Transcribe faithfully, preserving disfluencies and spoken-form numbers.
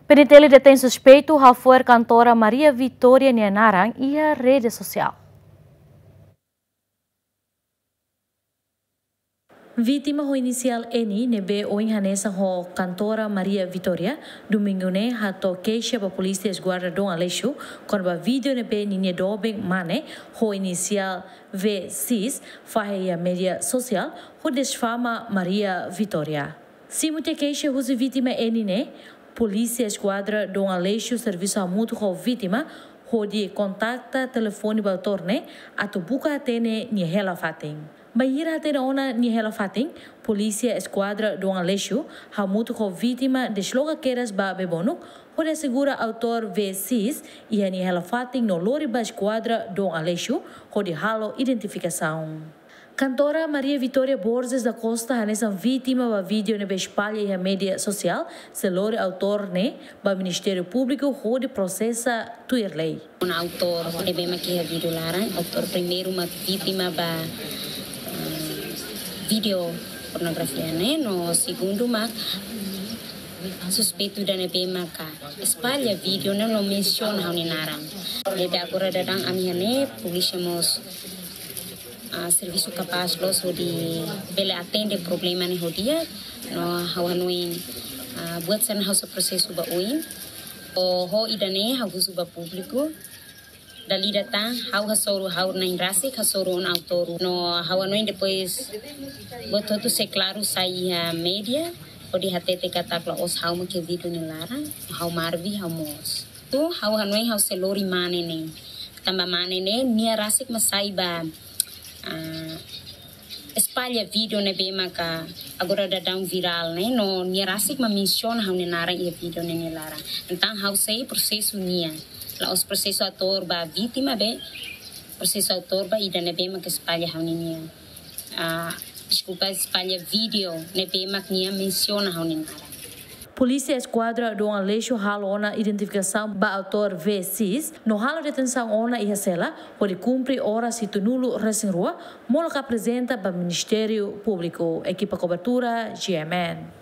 PNTL detein suspeitu hafo'er kantora Maria Vitória nia naran iha rede sosiál. Vítima ho inisiál N ne'ebé ohin hanesan ho kantora Maria Vitória, domingu ne'e hato'o keixa ba Polísia Eskuadra Dom Aleixo, kona-ba vídeo ne'ebé ninia doben mane ho inisiál V X fahe iha média sosiál hodi difama Maria Vitória. Simu tiha keixa husi vítima N ne'e, Polísia Eskuadra Dom Aleixo servisu hamutuk ho vítima hodi kontakta telefone ba autór ne'e atu buka hatene nia hela-fatin. Bainhira hatene ona nia hela-fatin, Polísia Eskuadra Dom Aleixo hamutuk ho vítima desloka kedas ba Bebonuk hodi asegura autór V X iha nia hela-fatin no lori ba Eskuadra Dom Aleixo hodi halo identifikasaun. Kantora Maria Vitória Borges da Costa hanesan vítima ba vídeo ne'ebé espalla iha média sosiál, sei lori autór ne'e ba Ministériu Públiku hodi prosesa tuir lei. Ona autór ne'ebé mak iha vídeo laran, autór primeiru mak vítima ba, eh, vídeo pornografia ne'e, no segundu mak suspeitu ida ne'ebé maka espalla vídeo ne'e no mensiona ha'u-nia naran. Ne'ebé agora daudaun ami iha ne'e, polísia mós, ah, servisu kapás loos hodi bele atende problema ne'e ho di'ak, no ha'u hanoin, ah, buat sira-ne'e ha'u sei prosesu ba oin. Ho, ho ida-ne'e ha'u husu ba públiku, dala ida tan ha'u hasoru, ha'u na'in rasik hasoru ona autór. No ha'u hanoin depois buat hotu sei klaru sai iha média, hodi hatete katak la'ós ha'u mak iha vídeo nia laran, ha'u Marvi, ha'u moos. Tu ha'u hanoin ha'u sei lori mane ne'e. Tanba mane ne'e nia rasik mak sai ba, ah, espalla vídeo ne'ebé maka agora daudaun virál ne'e, no nia rasik mak mensiona ha'u-nia naran iha vídeo ne'e nia laran. Entaun ha'u sei prosesu nia. La'ós prosesu autór ba vítima be, prosesu autór ba ida ne'ebé maka espalla ha'u-nia, ah, deskulpa, espalla vídeo ne'ebé mak nia mensiona ha'u-nia naran. Polísia Eskuadra Dom Aleixo halo ona identifikasaun ba autór V X, no halo detensaun ona iha sela, hodi kumpre oras hitunulu-resin-rua, molok aprezenta ba Ministériu Públiku. Ekipa kobertura, G M N.